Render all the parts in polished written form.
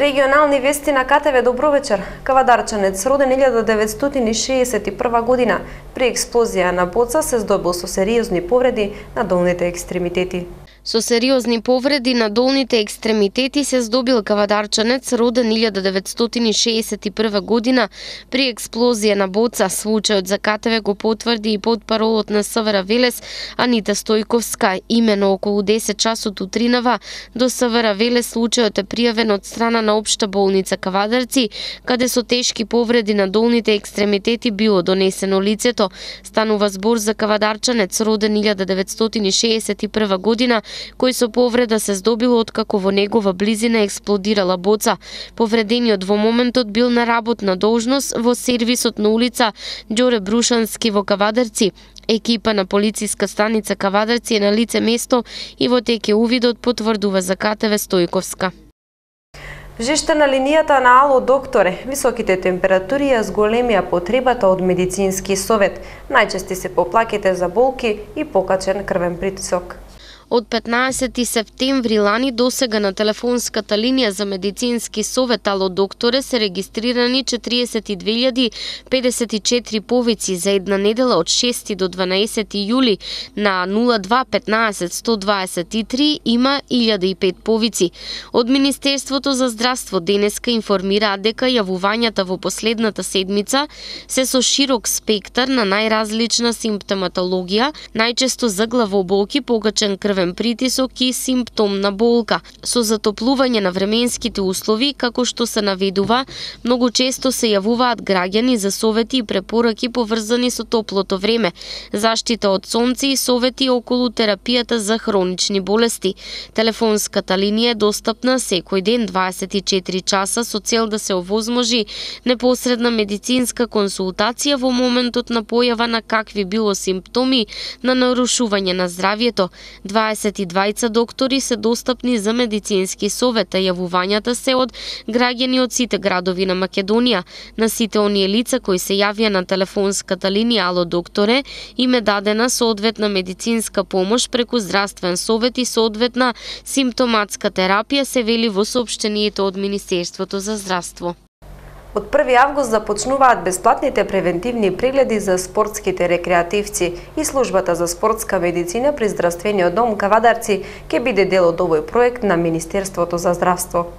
Регионални вести на КТВ. Добро вечер. Кавадарчанец роден 1961 година при експлозија на боца се здобил со сериозни повреди на долните екстремитети. Со сериозни повреди на долните екстремитети се здобил кавадарчанец роден 1961 година при експлозија на боца. Случајот за КТВ го потврди и потпаролот на СВР Велес Анита Стојковска. Имено околу 10 часот утринава до СВР Велес случајот е пријавен од страна на Општа болница Кавадарци, каде со тешки повреди на долните екстремитети било донесено лицето. Станува збор за кавадарчанец роден 1961 година, кој со повреда се здобил откако во негова близина експлодирала боца. Повредениот во моментот бил на работна должност во сервисот на улица Ѓоре Брушански во Кавадарци. Екипа на полициска станица Кавадарци е на лице место и во теке увидот, потврдува за КТВ Стојковска. Жештена линијата на Ало докторе, високите температури ја зголемија потребата од медицински совет. Најчести се поплаките за болки и покачен крвен притисок. Од 15 септември лани досега на телефонската линија за медицински совет Ало докторе се регистрирани 42.054 повици за една недела од 6 до 12 јули. На 02 15 123 има 1005 повици. Од Министерството за здравство денеска информираат дека јавувањата во последната седмица се со широк спектар на најразлична симптоматологија, најчесто за главоболки, покачен крвен притисок и симптомна болка. Со затоплување на временските услови, како што се наведува, многу често се јавуваат граѓани за совети и препораки поврзани со топлото време, заштита од сонце и совети околу терапијата за хронични болести. Телефонската линија е достапна секој ден 24 часа со цел да се овозможи непосредна медицинска консултација во моментот на појава на какви било симптоми на нарушување на здравјето. 22 доктори се достапни за медицински совет, а јавувањата се од граѓани од сите градови на Македонија. На сите оние лица кои се јавија на телефонската линија Ало докторе им е дадена соодветна медицинска помош преку здравствен совет и соодветна симптоматска терапија, се вели во соопштението од Министерството за здравство. Од 1 август започнуваат бесплатните превентивни прегледи за спортските рекреативци и службата за спортска медицина при здравствениот дом Кавадарци ќе биде дел од овој проект на Министерството за здравство.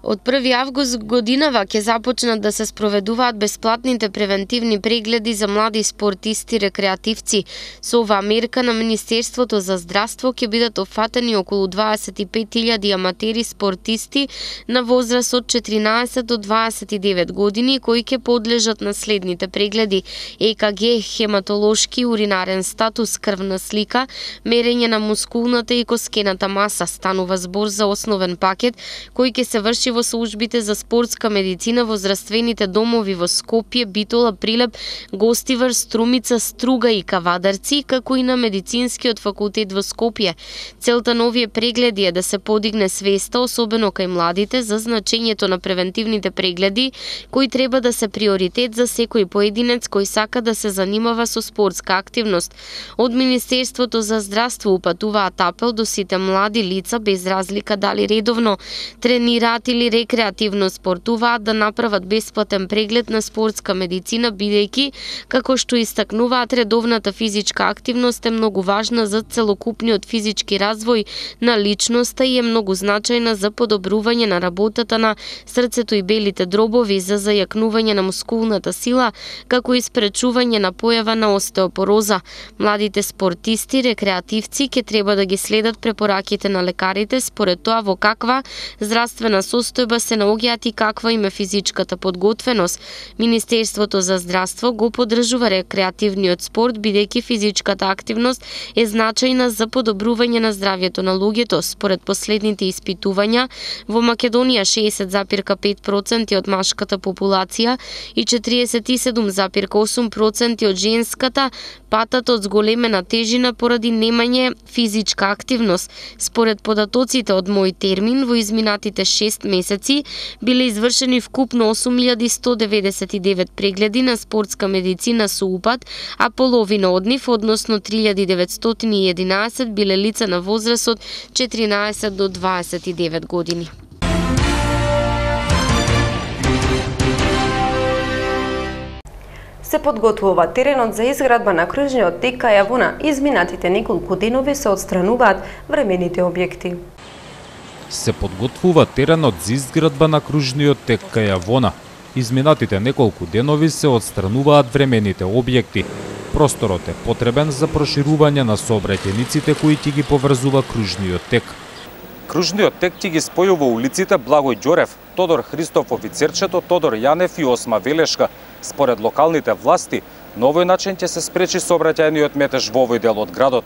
Од 1 август годинава ќе започнат да се спроведуваат бесплатните превентивни прегледи за млади спортисти рекреативци. Со оваа мерка на Министерството за здравство ќе бидат опфатени околу 25.000 аматери спортисти на возраст од 14 до 29 години кои ќе подлежат на следните прегледи: ЕКГ, хематолошки, уринарен статус, крвна слика, мерење на мускулната и коскената маса. Станува збор за основен пакет кој ќе се врши во службите за спортска медицина во здравствените домови во Скопје, Битола, Прилеп, Гостивар, Струмица, Струга и Кавадарци, како и на медицинскиот факултет во Скопје. Целта на овие прегледи е да се подигне свеста, особено кај младите, за значењето на превентивните прегледи, кои треба да се приоритет за секој поединец кој сака да се занимава со спортска активност. Од Министерството за здравство упатуваат апел до сите млади лица, без разлика дали редовно тренираат или рекреативно спортуваат, да направат бесплатен преглед на спортска медицина, бидејќи, како што истакнуваат, редовната физичка активност е многу важна за целокупниот физички развој на личноста и е многу значајна за подобрување на работата на срцето и белите дробови, за зајакнување на мускулната сила, како и спречување на појава на остеопороза. Младите спортисти, рекреативци ќе треба да ги следат препораките на лекарите според тоа во каква здравствена состојба се наоѓаат и каква им е физичката подготвеност. Министерството за здравство го поддржува рекреативниот спорт, бидејќи физичката активност е значајна за подобрување на здравјето на луѓето. Според последните испитувања, во Македонија 60,5% од машката популација и 47,8% од женската патат од зголемена тежина поради немање физичка активност. Според податоците од Мој термин, во изминатите 6 месеци биле извршени вкупно 8199 прегледи на спортска медицина со упат, а половина од нив, односно 3911, биле лица на возраст од 14 до 29 години. се подготвува теренот за изградба на кружниот тек кај Јавона. Изминатите неколку денови се отстрануваат времените објекти. Се подготвува теренот за изградба на кружниот тек кај Јавона. Изминатите неколку денови се отстрануваат времените објекти. Просторот е потребен за проширување на сообраќајниците кои ќе ги поврзува кружниот тек. Кружниот тек ќе ги спојува улиците Благој Ѓорев, Тодор Христов Офицерчето, Тодор Јанев и Осма Велешка. Според локалните власти, на овој начин ќе се спречи сообраќајниот метеж во овој дел од градот.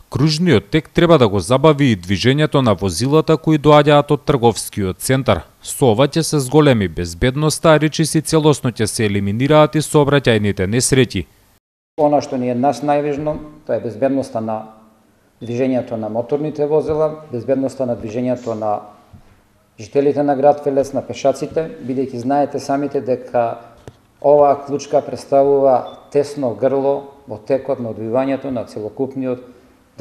Кружниот тек треба да го забави и движењето на возилата кои доаѓаат од трговскиот центар. Со ова ќе се зголеми безбедноста, а речиси целосно ќе се елиминираат и сообраќајните несреќи. Она што ни е нас најважно, тоа е безбедноста на движењето на моторните возила, безбедноста на движењето на жителите на град Велес, на пешаците, бидејќи знаете самите дека оваа клучка представува тесно грло во текот на одвивањето на целокупниот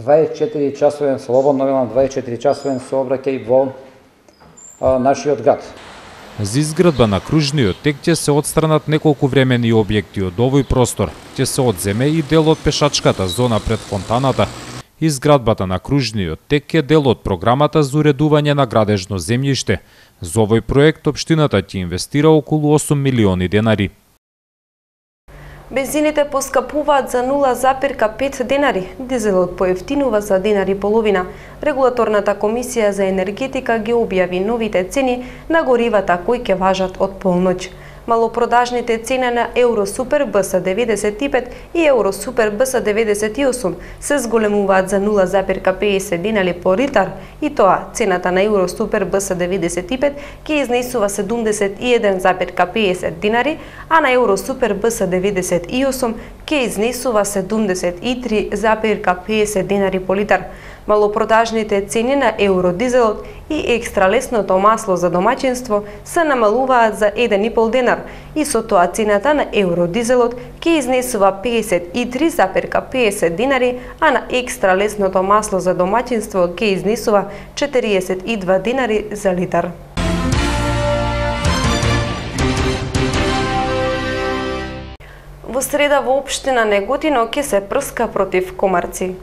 24-часовен, слободно велам 24-часовен сообраќај во нашиот град. За изградба на кружниот тек ќе се отстранат неколку времени објекти од овој простор. Ќе се одземе и дел од пешачката зона пред фонтаната. Изградбата на кружниот тек е дел од програмата за уредување на градежно земјиште. За овој проект општината ќе инвестира околу 8 милиони денари. Бензините поскапуваат за 0,5 денари, дизелот поевтинува за денари половина. Регулаторната комисија за енергетика ги објави новите цени на горивата кои ќе важат од полноќ. Малопродажните цени на Евросупер БС95 и Евросупер БС98 се зголемуваат за 0,50 денари по литар и тоа цената на Евросупер БС95 ќе изнесува 71,50 денари, а на Евросупер БС98 ќе изнесува 73,50 денари по литар. Малопродажните цени на евродизелот и екстралесното масло за домаќинство се намалуваат за 1,5 денар и со тоа цената на евродизелот ќе изнесува 53,50 денари, а на екстралесното масло за домаќинство ќе изнесува 42 денари за литар. Во среда во општина Неготино ќе се прска против комарци.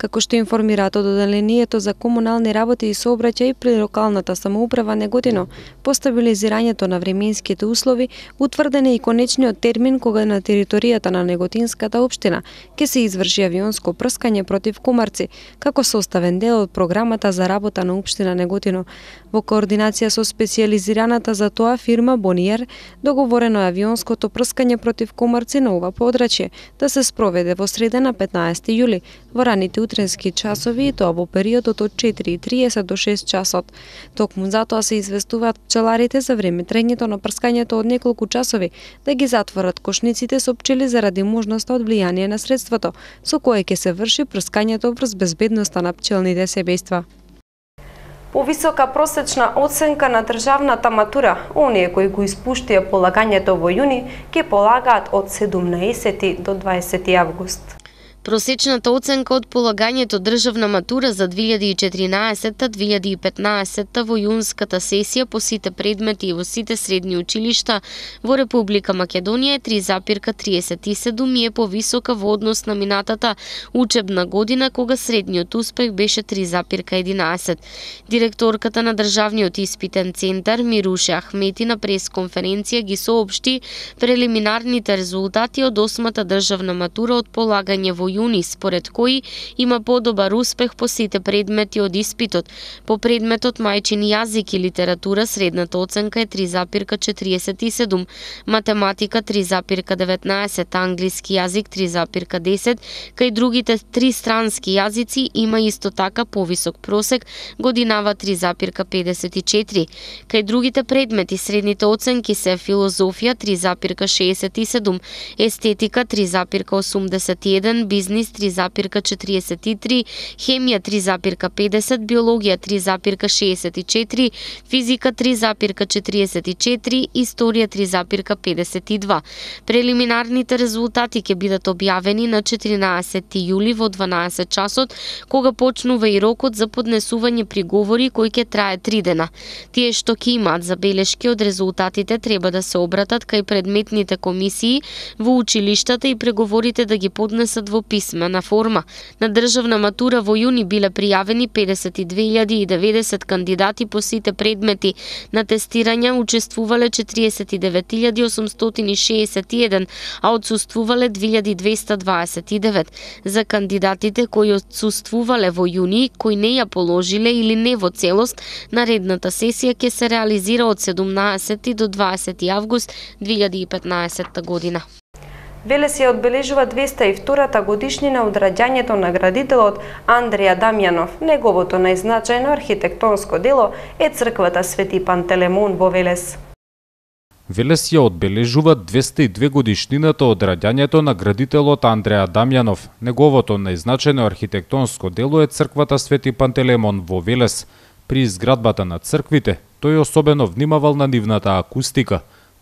Како што информираат од одделението за комунални работи и сообраќај при локалната самоуправа Неготино, по стабилизирањето на временските услови, утврден е и конечниот термин кога на територијата на Неготинската општина ќе се изврши авионско прскање против комарци, како составен дел од програмата за работа на општина Неготино. Во координација со специјализираната за тоа фирма Бониер, договорено е авионското прскање против комарци на ова подрачје да се спроведе во среда на 15 јули во раните утренски часови и тоа во периодот од 4:30 до 6 часот. Токму затоа се известуваат пчеларите за време трајањето на прскањето од неколку часови да ги затворат кошниците со пчели заради можноста од влијание на средството со кое ќе се врши прскањето врз безбедноста на пчелните семејства. Повисока просечна оценка на државната матура, оние кои го испуштија полагањето во јуни, ќе полагаат од 17 до 20 август. Просечната оценка од полагањето државна матура за 2014-2015 во јунската сесија по сите предмети и во сите средни училишта во Република Македонија е 3,37 и е повисока во однос на минатата учебна година кога средниот успех беше 3,11. Директорката на Државниот испитен центар Мируше Ахмети на пресконференција ги соопшти прелиминарните резултати од 8-та државна матура од полагање во јуни, според кои има подобар успех по сите предмети од испитот. По предметот мајчин јазик и литература средната оценка е 3,47, математика 3,19, англиски јазик 3,10, кај другите три странски јазици има исто така повисок просек, годинава 3,54. Кај другите предмети средните оценки се филозофија 3,67, естетика 3,81, бизнис 3,43, хемија 3,50, биологија 3,64, физика 3,44, историја 3,52. Прелиминарните резултати ќе бидат објавени на 14 јули во 12 часот, кога почнува и рокот за поднесување приговори кој ќе трае 3 дена. Тие што ќе имаат забелешки од резултатите треба да се обратат кај предметните комисии во училиштата и преговорите да ги поднесат во писмена форма. На државна матура во јуни биле пријавени 52.090 кандидати по сите предмети. На тестирање учествувале 49.861, а отсуствувале 2.229. За кандидатите кои отсуствувале во јуни, кои не ја положиле или не во целост, наредната сесија ќе се реализира од 17 до 20 август 2015 година. Велес ја одбележува 202-та годишнина од раѓањето на градителот Андреја Дамјанов. Неговото најзначајно архитектонско дело е црквата Свети Пантелеймон во Велес. Велес ја одбележува 202 годишнината од раѓањето на градителот Андреја Дамјанов. Неговото најзначајно архитектонско дело е црквата Свети Пантелеймон во Велес. При изградбата на црквите, тој особено внимавал на нивната акустика.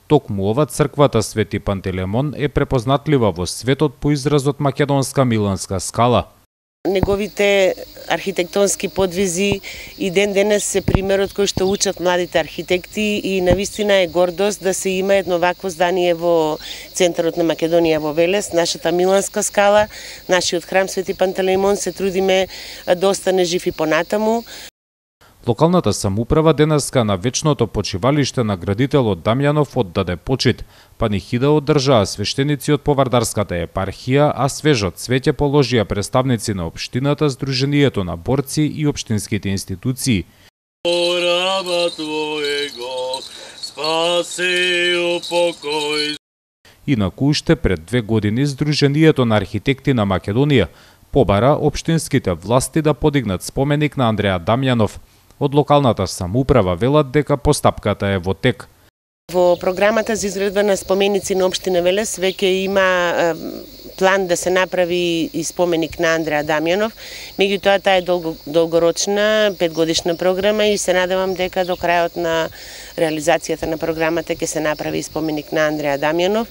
Токму ова црквата Свети Пантелеймон е препознатлива во светот по изразот македонска миланска скала. Неговите архитектонски подвизи и ден денес се примерот кој што учат младите архитекти и навистина е гордост да се има едно вакво здание во центарот на Македонија во Велес, нашата миланска скала, нашиот храм Свети Пантелеймон, се трудиме да остане жив и понатаму. Локалната самоуправа денеска на вечното почивалиште на градителот Дамјанов оддаде почит. Панихида одржаа свештеници од Повардарската епархија, а свежо цвеќе положија представници на општината, Сдруженијето на борци и општинските институции. Инаку уште пред 2 години Сдруженијето на архитекти на Македонија побара општинските власти да подигнат споменик на Андреја Дамјанов. Од локалната самоуправа велат дека постапката е во тек. Во програмата за изградба на споменици на општина Велес веќе има план да се направи и споменик на Андреја Дамјанов. Меѓутоа таа е долгорочна 5-годишна програма и се надевам дека до крајот на реализацијата на програмата ќе се направи и споменик на Андреја Дамјанов.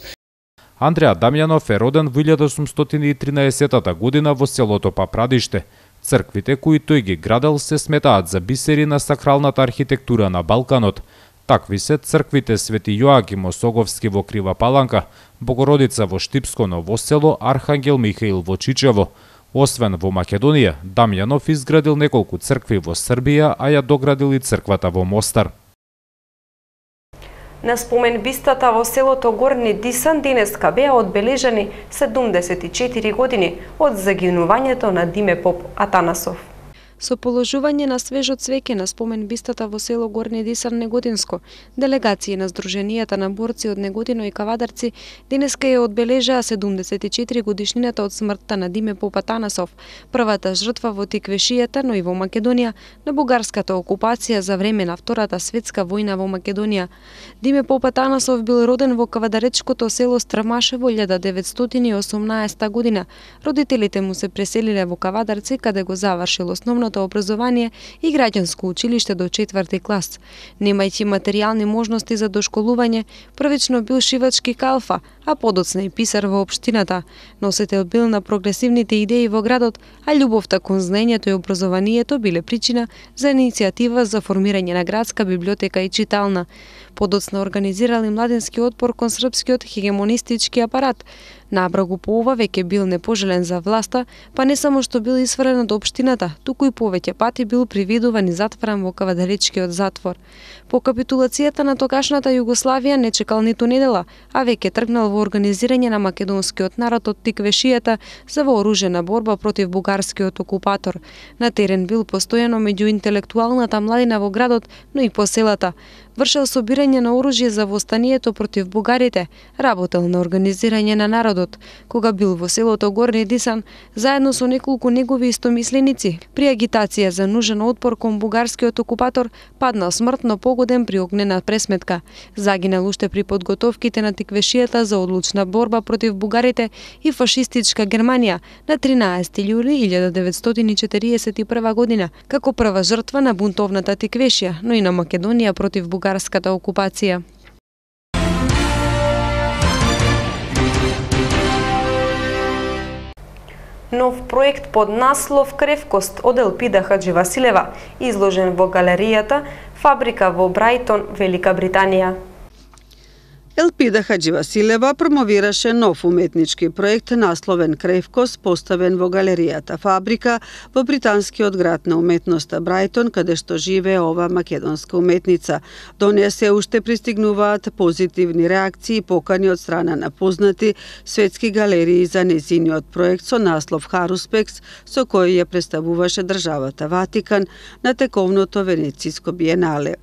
Андреја Дамјанов е роден во 1813 година во селото Папрадиште. Црквите кои тој ги градел се сметаат за бисери на сакралната архитектура на Балканот. Такви се црквите Свети Јоаким Осоговски во Крива Паланка, Богородица во Штипско Ново село, Архангел Михаил во Чичево. Освен во Македонија, Дамјанов изградил неколку цркви во Србија, а ја доградил и црквата во Мостар. На спомен бистата во селото Горни Дисан денеска беа одбележани 74 години од загинувањето на Диме Поп Атанасов. Со положување на свежо цвеќе на спомен бистата во село Горни Дисан Негодинско, делегации на Сдруженијата на борци од Негодино и Кавадарци денеска ја одбележаа 74 годишнината од смртта на Диме Поп Атанасов, првата жртва во Тиквешијата, но и во Македонија, на бугарската окупација за време на Втората светска војна во Македонија. Диме Поп Атанасов бил роден во кавадаречкото село Страмашево 1918 година. Родителите му се преселиле во Кавадарци, каде го завршил основно образование и граѓанско училиште до 4-ти клас. Немајќи материјални можности за дошколување, првично бил шивачки калфа, а подоцна и писар во општината. Носител бил на прогресивните идеи во градот, а љубовта кон знаењето и образованието биле причина за иницијатива за формирање на градска библиотека и читална. Подоцна организирал и младински отпор кон српскиот хегемонистички апарат. Набрагу по ова веќе бил непожелен за власта, па не само што бил исфрлен од општината, туку и повеќе пати бил привидуван и затворен во кавадаречкиот затвор. По капитулацијата на тогашната Југославија не чекал ниту недела, а веќе тргнал во организирање на македонскиот народ од Тиквешијата за вооружена борба против бугарскиот окупатор. На терен бил постојано меѓу интелектуалната младина во градот, но и по селата. вршел собирање на оружје за востанието против бугарите, работел на организирање на народот. Кога бил во селото Горни Дисан, заедно со неколку негови истомисленици, при агитација за нужен отпор кон бугарскиот окупатор, паднал смртно погоден при огнена пресметка. Загинал уште при подготовките на тиквешијата за одлучна борба против бугарите и фашистичка Германија на 13 јули 1941 година, како прва жртва на бунтовната тиквешија, но и на Македонија против бугарската окупација. Нов проект под наслов Кревкост од Елпида Хадживасилева, изложен во галеријата Фабрика во Брајтон, Велика Британија. Елпида Хадживасилева промовираше нов уметнички проект насловен Кревкост, поставен во галеријата Фабрика во британскиот град на уметноста Брајтон, каде што живее ова македонска уметница. До неја се уште пристигнуваат позитивни реакции и покани од страна на познати светски галерии за нејзиниот проект со наслов Харуспекс, со кој ја представуваше државата Ватикан на тековното Венециско биенале.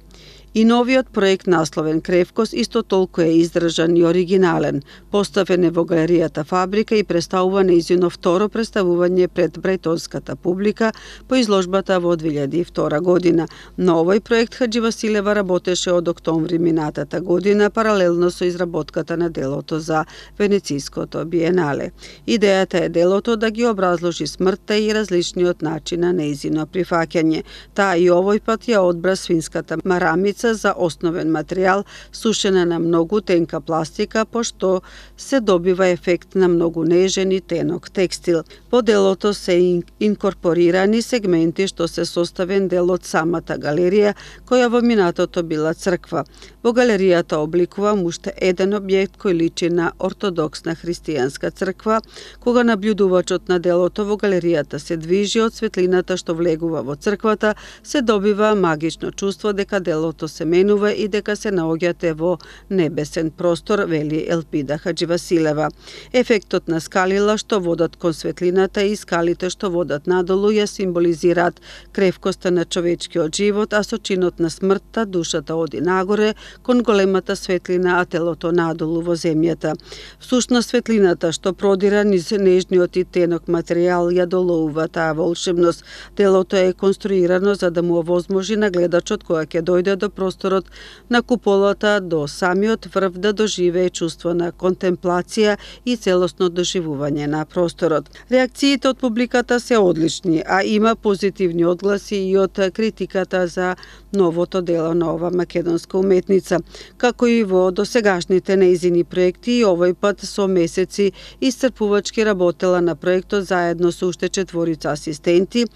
И новиот проект насловен Кревкост исто толку е издржан и оригинален. Поставен е во галеријата Фабрика и представува нејзино второ представување пред брајтонската публика по изложбата во 2002 година. На овој проект Хадживасилева работеше од октомври минатата година, паралелно со изработката на делото за Венециското биенале. Идејата е делото да ги образложи смртта и различниот начин на нејзино прифаќање. Таа и овој пат ја одбра свинската марамица за основен материјал, сушена на многу тенка пластика, пошто се добива ефект на многу нежен и тенок текстил. Во делото се инкорпорирани сегменти што се составен дел од самата галерија, која во минатото била црква. Во галеријата обликувам уште еден објект кој личи на ортодоксна христијанска црква. Кога наблюдувачот на делото во галеријата се движи од светлината што влегува во црквата, се добива магично чувство дека делото се менува и дека се наоѓате во небесен простор, вели Елпида Хадживасилева. Ефектот на скалила што водат кон светлината и скалите што водат надолу ја символизираат кревкоста на човечкиот живот, а со чинот на смртта душата оди нагоре кон големата светлина, а телото надолу во земјата. Всушност светлината што продира низ нежниот и тенок материјал ја долоува таа волшебност. Делото е конструирано за да му овозможи на гледачот кога ќе дојде до просторот на куполата до самиот врв да доживее чувство на контемплација и целосно доживување на просторот. Реакциите од публиката се одлични, а има позитивни одгласи и од критиката за новото дело на ова македонска уметница. Како и во досегашните нејзини проекти, и овој пат со месеци исцрпувачки работела на проектот заедно со уште 4 асистенти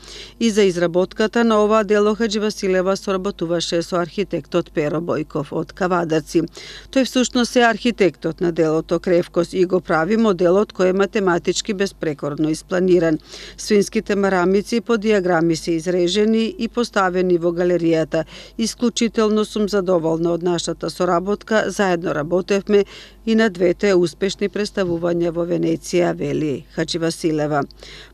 и за изработката на ова дело Хадживасилева соработуваше со архитектот Перо Бојков од Кавадарци. Тој всушност е архитектот на делото Кревкост и го прави моделот кој е математички безпрекорно испланиран. Свинските марамици по диаграми се изрежени и поставени во галеријата. Исклучително сум задоволна од нашата соработка, заедно работевме и на двете успешни представувања во Венеција, вели Хадживасилева.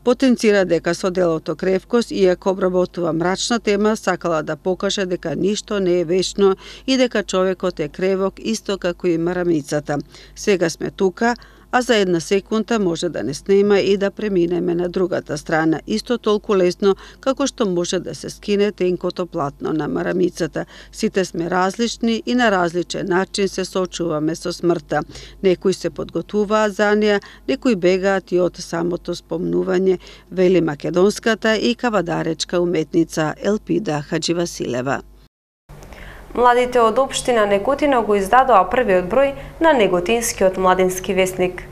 Потенцира дека со делото Кревкост, иако обработува мрачна тема, сакала да покаже дека ништо не е вечно и дека човекот е кревок исто како и марамицата. Сега сме тука, а за една секунда може да не снема и да преминеме на другата страна, исто толку лесно како што може да се скине тенкото платно на марамицата. Сите сме различни и на различен начин се соочуваме со смртта. Некои се подготвуваат за неа, некои бегаат и од самото спомнување, вели македонската и кавадаречка уметница Елпида Хадживасилева. Младите од општина Неготино го издадоа првиот број на Неготинскиот младински весник.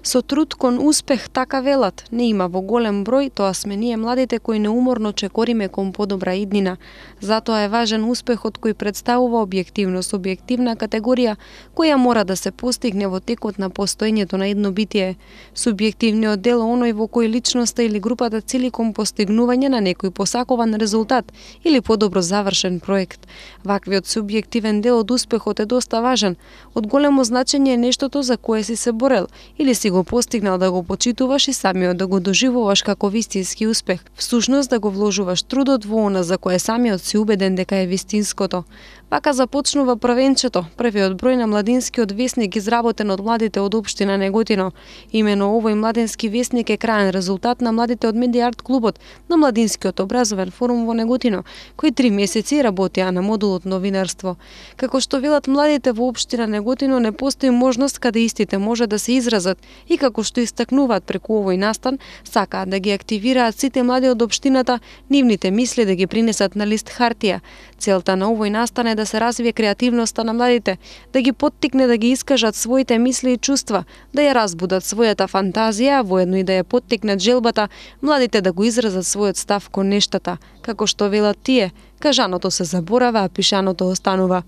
Со труд кон успех, така велат, не има во голем број, тоа сме ние младите кои неуморно чекориме кон подобра иднина. Затоа е важен успехот кој представува објективно субјективна категорија која мора да се постигне во текот на постоењето на едно битие. Субјективниот дел е оној во кој личноста или групата цели кон постигнување на некој посакуван резултат или подобро завршен проект. Ваквиот субјективен дел од успехот е доста важен. Од големо значење е нештото за кое си се борел или си го постигнал да го почитуваш и самиот да го доживуваш како вистински успех. Всушност да го вложуваш трудот во она за кое самиот си убеден дека е вистинското. Вака започнува првенчето, првиот број на младинскиот весник изработен од младите од општина Неготино. Имено овој младински весник е краен резултат на младите од Медиа Арт клубот на младинскиот образовен форум во Неготино, кои 3 месеци работеа на модулот новинарство. Како што велат младите во општина Неготино, не постои можност каде истите може да се изразат и како што истакнуваат преку овој настан, сакаат да ги активираат сите млади од општината, нивните мисли да ги принесат на лист хартија. Целта на овој настан е да се развие креативноста на младите, да ги поттикне да ги искажат своите мисли и чувства, да ја разбудат својата фантазија, а воедно и да ја поттикнат желбата младите да го изразат својот став кон нештата. Како што велат тие, кажаното се заборава, а пишаното останува.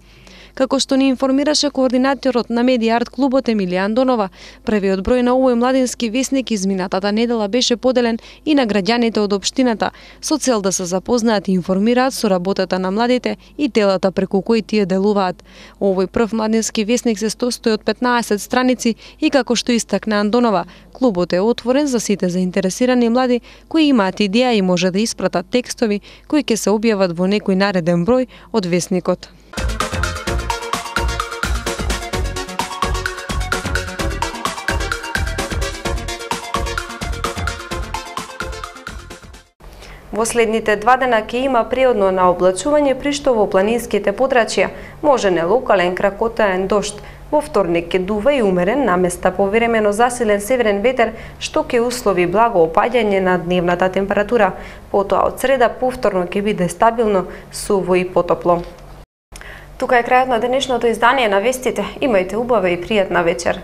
Како што ни информираше координаторот на Медиа Арт клубот Емилија Андонова, првиот број на овој младински весник изминатата недела беше поделен и на граѓаните од општината, со цел да се запознаат и информираат со работата на младите и телата преку кои тие делуваат. Овој прв младински весник се состои од 15 страници и како што истакна Андонова, клубот е отворен за сите заинтересирани млади кои имаат идеја и може да испратат текстови кои ќе се објават во некој нареден број од весникот. Во следните 2 дена ќе има преодно на облачување, при што во планинските подрачја може не локален кракотаен дожд. Во вторник ќе дува и умерен, на места повремено засилен северен ветер, што ќе услови благо опаѓање на дневната температура. Потоа од среда повторно ќе биде стабилно, суво и потопло. Тука е крајот на денешното издание на вестите. Имајте убава и пријатна вечер.